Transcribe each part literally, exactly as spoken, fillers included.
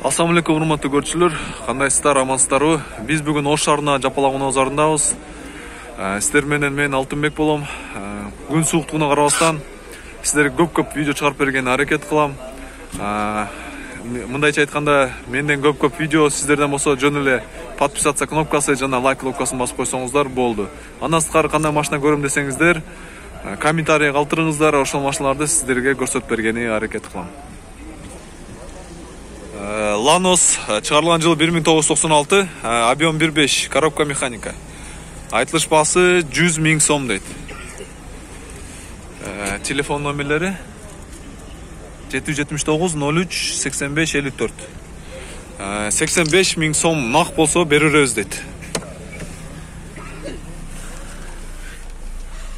Assalamu alaikum урматтуу көрүүчүлөр, кандайсыздар, амансыздарбы? Биз бүгүн Ош шаарына жапалаган озарындабыз. Сиздер менен мен Алтынбек болом. Күн сууктугуна карабастан сиздерге көп-көп видео чыгарып бергенге аракет кылам. Мындайча айтканда, менден көп-көп видео сиздерден болсо жөн эле подписаться кнопкасы жана лайк кнопкасын басып койсоңуздар болду. Андан сырткары кандай машина көрөм десеңиздер, комментарий калтырыңыздар, ошол машиналарды сиздерге көрсөтүп бергенге аракет кылам. Lanos чыгарылган жылы бир миң тогуз жүз токсон алты, объем бир беш, коробка механика. Айтылыш баасы жүз миң сом дейт. Телефон номерлери жети жүз жетимиш тогуз ноль үч сексен беш элүү төрт. сексен беш миң сом нак болсо беребиз дейт.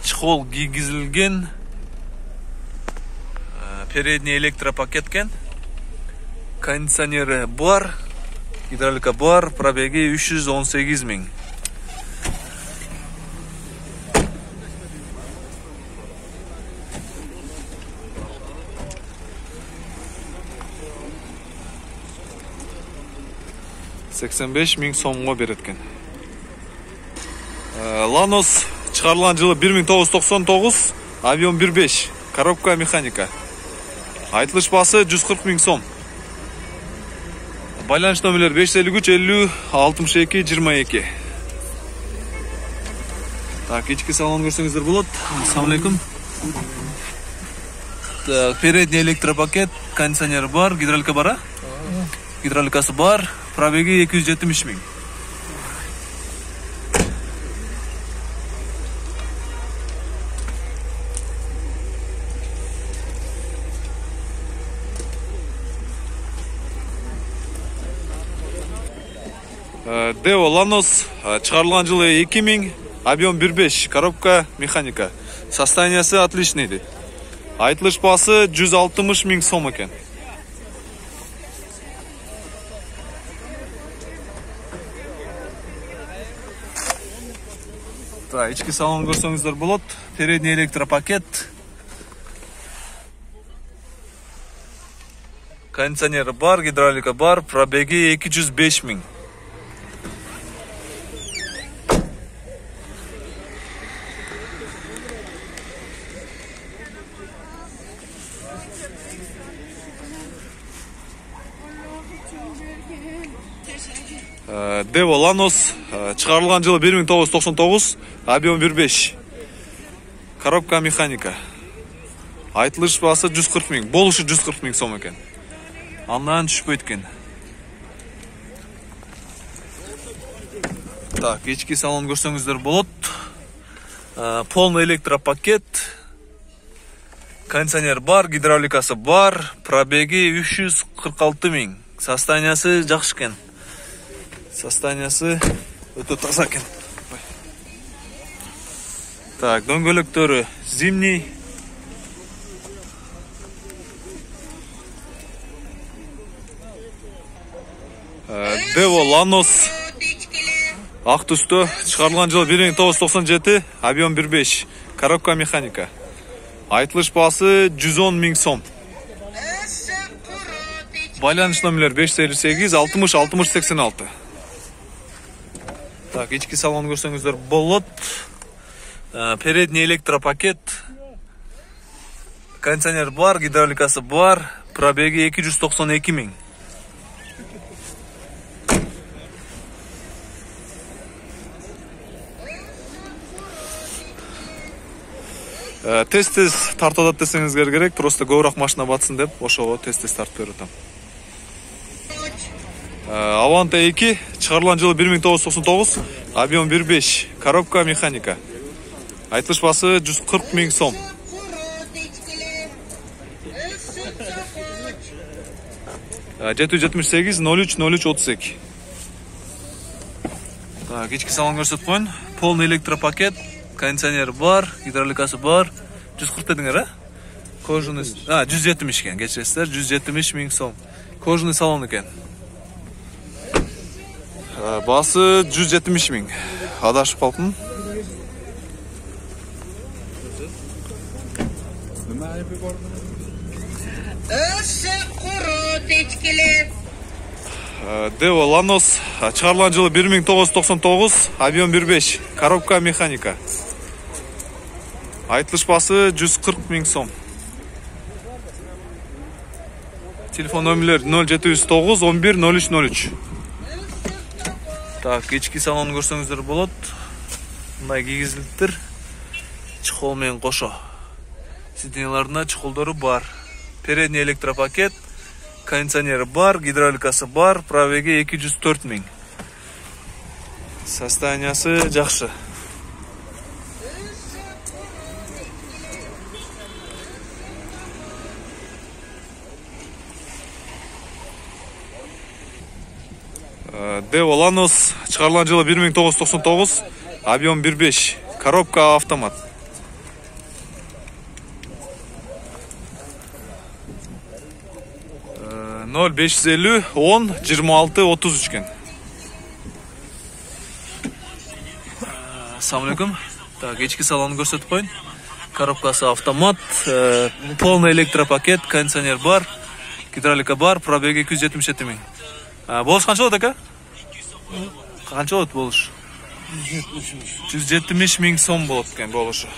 Чехол кийгизилген, передний электропакеткен. Кондиционері бар, гидравлика бар, пробеги үч жүз он сегиз миң. сексен беш миң сомго береткен. Lanos чыгарылган жылы бир миң тогуз жүз токсон тогуз, объем бир беш, коробка механика. Айтылыш баасы жүз кырк миң сом. Байланыш номерлер беш жүз элүү үч элүү алтымыш эки жыйырма эки. Так, ички салон көрсөңүздөр болот. Ассаламу алейкум. Передний электропакет, кондиционер бар, гидравлика бар, а? Гидравликасы бар, пробеги эки жүз жетимиш миң. Део Lanos чыгарылган жылы эки миң, объем бир беш, коробка механика. Состояниясы отличный дейт. Айтылыш баасы жүз алтымыш миң сом экен. Та, ички салон көрсөңүздөр болот. Передний электропакет. Кондиционер бар, гидравлика бар, пробеги эки жүз беш миң. Део Lanos чыгарылган жылы бир миң тогуз жүз токсон тогуз, объем бир беш, коробка механика. Айтылыш баасы жүз кырк миң, болушу жүз кырк миң сом экен. Андан түшпөйт экен. Так, ички салон көрсөңүздөр болот. Полный электропакет. Кондиционер бар, гидравликасы бар, пробеги үч жүз кырк алты миң. Состояниясы жакшы экен. Состояниясы өтө таза экен. Так, дөңгөлөктөрү зимний. Део Lanos ак түстө чыгарылган жылы бир миң тогуз жүз токсон жети, объем бир беш, коробка механика. Айтылыш баасы жүз он миң сом. Байланыш номерлер беш жүз элүү сегиз алтымыш алтымыш сексен алты. Так, ички салон көрсөңүздөр болот. Передний электропакет. Кондиционер бар, гидравликасы бар, пробеги эки жүз токсон эки миң. Тест-тест тартып атат десеңиздер керек, просто көбүрөөк машина батсын деп, ошого тест-тест тартып берип атам. Avante эки чыгарылган жылы бир миң тогуз жүз токсон тогуз, объем бир беш, коробка механика. Айтылыш баасы жүз кырк миң сом. жети жүз жетимиш сегиз ноль үч ноль үч отуз эки. Так, ички салон көрсөтүп коюн. Полный электропакет, кондиционер бар, гидравликасы бар. жүз кырк дедиңер, а? Кожаный, а, жүз жетимиш экен, кечиресиздер, жүз жетимиш миң сом. Кожаный салон экен. Басы жүз жетимиш миң. Адашып калдым. Өсі құры течкелі. Devo Lanos чыгарылган жылы бир миң тогуз жүз токсон тогуз, объем бир беш, коробка механика. Айтылыш басы жүз кырк миң сом. Телефон номерлер нөл жети жүз тогуз он бир нөл үч нөл үч. Так, ички салонун көрсөңүздөр болот. Мындай кийгизилиптир. Чехол менен кошо. Сиденьяларында чехолдору бар. Передний электропакет, кондиционери бар, гидравликасы бар, пробеги эки жүз төрт миң. Состояниясы жакшы. Devo Lanos чыгарылган жылы бир миң тогуз жүз токсон тогуз, объем бир беш, коробка автомат. нөл беш жүз элүү он жыйырма алты отуз үч кен. Ассаламу алейкум. Так, ички салонун көрсөтүп коюн. Коробкасы автомат, полный электропакет, кондиционер бар, гидравлика бар, пробеги эки жүз жетимиш жети миң. Болуш канча болот ака? Канча болот болуш? жүз жетимиш миң сом болот экен болушу.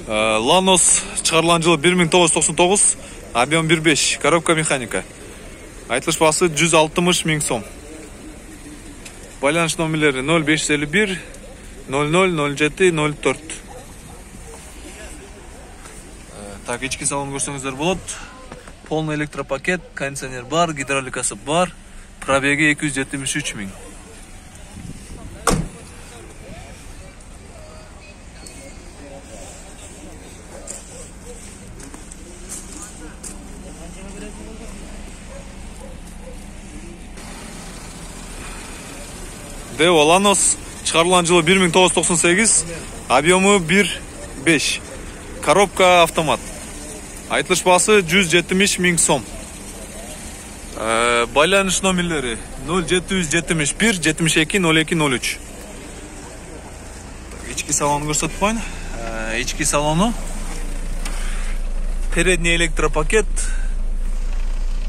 Lanos чыгарылган жылы бир миң тогуз жүз токсон тогуз, объем бир беш, коробка механика. Айтылыш басы жүз алтымыш миң сом. Байланыш номерлери нөл беш жүз элүү бир нөл нөл нөл жети нөл төрт. Так, ички салон көрсөңүздөр болот. Полный электропакет, кондиционер бар, гидравликасы бар, пробеги эки жүз жетимиш үч миң. Devo Lanos чыгарылган жылы бир миң тогуз жүз токсон сегиз, объему бир беш, коробка автомат. Айтылыш басы жүз жетимиш миң сом. Байланыш номерлери нөл жети жүз жетимиш бир жетимиш эки нөл эки нөл үч. Ички салонун көрсөтүп коюн. Ички салону передний электропакет,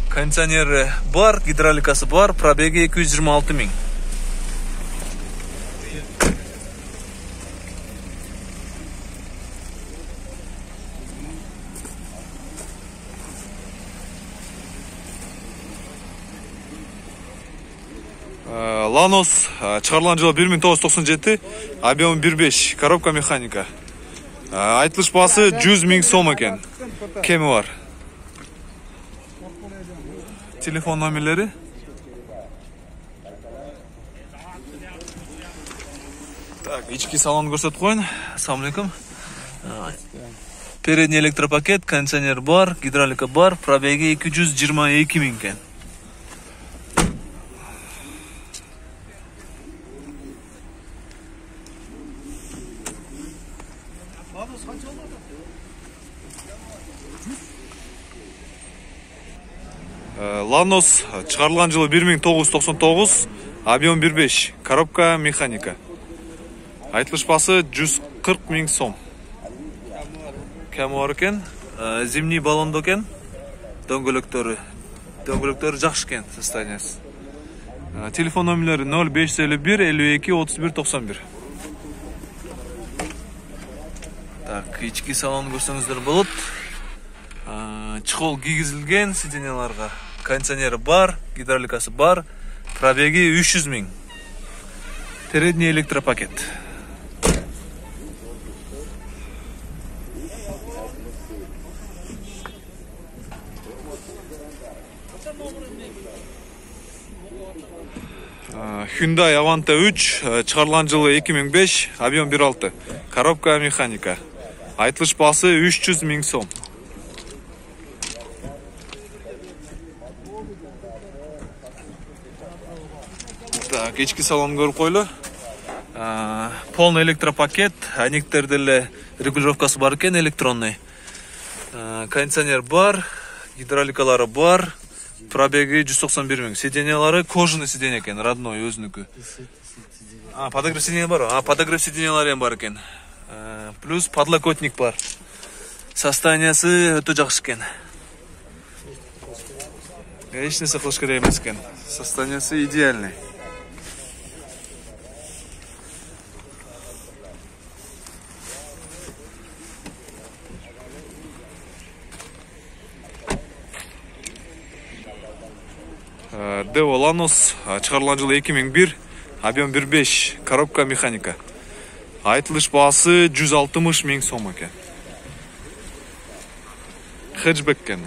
кондиционери бар, гидравликасы бар, пробеги эки жүз жыйырма алты миң. Lanos чыгарылган жылы бир миң тогуз жүз токсон жети, объем бир беш, коробка механика. Айтылыш басы жүз миң сом экен. Кеми бар. Телефон номерлери Так, ички салон көрсөтүп коюн. Ассаламу алейкум. Передний электропакет, кондиционер бар, гидравлика бар, пробеги эки жүз жыйырма эки миң экен. Lanos чыгарылган жылы бир миң тогуз жүз токсон тогуз, объем бир беш, коробка механика. Айтылыш басы жүз кырк миң сом. Кеми бар экен, зимний баллондо экен, дөңгөлөктөрү. Дөңгөлөктөрү жакшы экен состояниясы. Телефон номерлери нөл беш жүз элүү бир элүү эки отуз бир токсон бир. Так, ички салонун көрсөңүздөр болот. Чехол кийгизилген сиденьяларга. Кондиционери бар, гидравликасы бар, пробеги үч жүз миң. Передний электропакет. Hyundai Avante үч чыгарылган жылы эки миң беш, объем бир алты, коробка механика. Айтылыш басы үч жүз миң сом. Так, ички салон көрүп койлу. Полный электропакет, аниктер деле регулировкасы бар экен, электронный. Кондиционер бар, гидравликалары бар, пробеги жүз токсон бир миң. Сиденьялары кожаный сиденье экен, родной өзүнүкү. А, подогрев сиденья бар. А, подогрев сиденьялары бар экен. Плюс подлокотник бар. Состояниясы өтө жакшы экен. Эч нерсе кылыш керек эмес экен. Состояниясы идеальный. Део Ланос чыгарылган жылы эки миң бир, объем бир беш, коробка механика. Айтылыш баасы жүз алтымыш миң сом экен. Хэтчбек экен.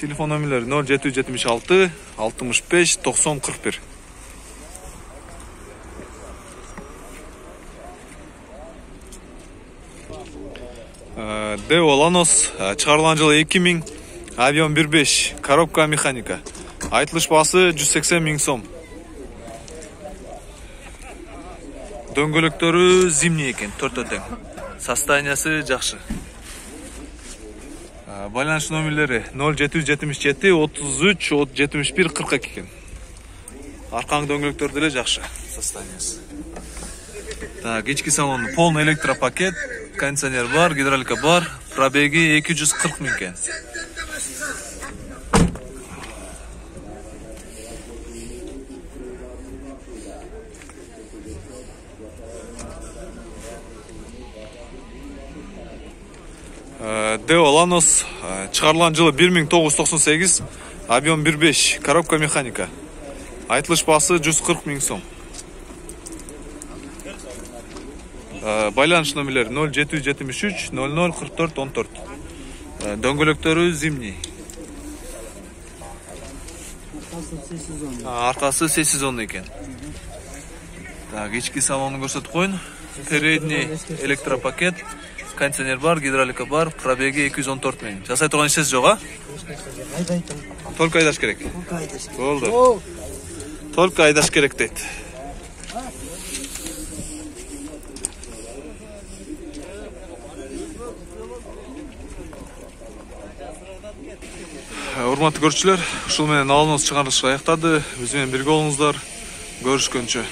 Телефон номерлери ноль жети жүз жетимиш алты, алтымыш беш, токсон, кырк бир. Део Ланос чыгарылган жылы эки миң, объем бир беш, коробка механика. Айтылыш баасы жүз сексен миң сом. Дөңгөлөктөрү зимний экен, төртөө тең. Состояниясы жакшы. Байланыш номерлери ноль жети жүз жетимиш жети, отуз үч, жетимиш бир, кырк эки экен. Аркаңы дөңгөлөктөр деле жакшы состояниясы. Так, ички салон полный электропакет, кондиционер бар, гидравлика бар, пробеги эки жүз кырк миң экен. Део Ланос чыгарылган жылы бир миң тогуз жүз токсон сегиз, объем бир беш, коробка механика. Айтылыш баасы жүз кырк миң сом. Байланыш номерлери ноль жети жүз жетимиш үч, ноль ноль, кырк төрт, он төрт. Дөңгөлөктөрү зимний. Аркасы сей сезон экен. Так, ички салонун көрсөтүп коюн. Передний электропакет, кондиционер бар, гидравлика бар, пробеги эки жүз он төрт миң. Жасай турган ишсиз жок, а? Только айдаш керек. Болду. Только айдаш керек дейт. Урматтуу көрүүчүлөр, ушул менен алымыбыз чыгарылышы аяктады. Биз менен бирге болуңуздар. Көрүшкөнчө.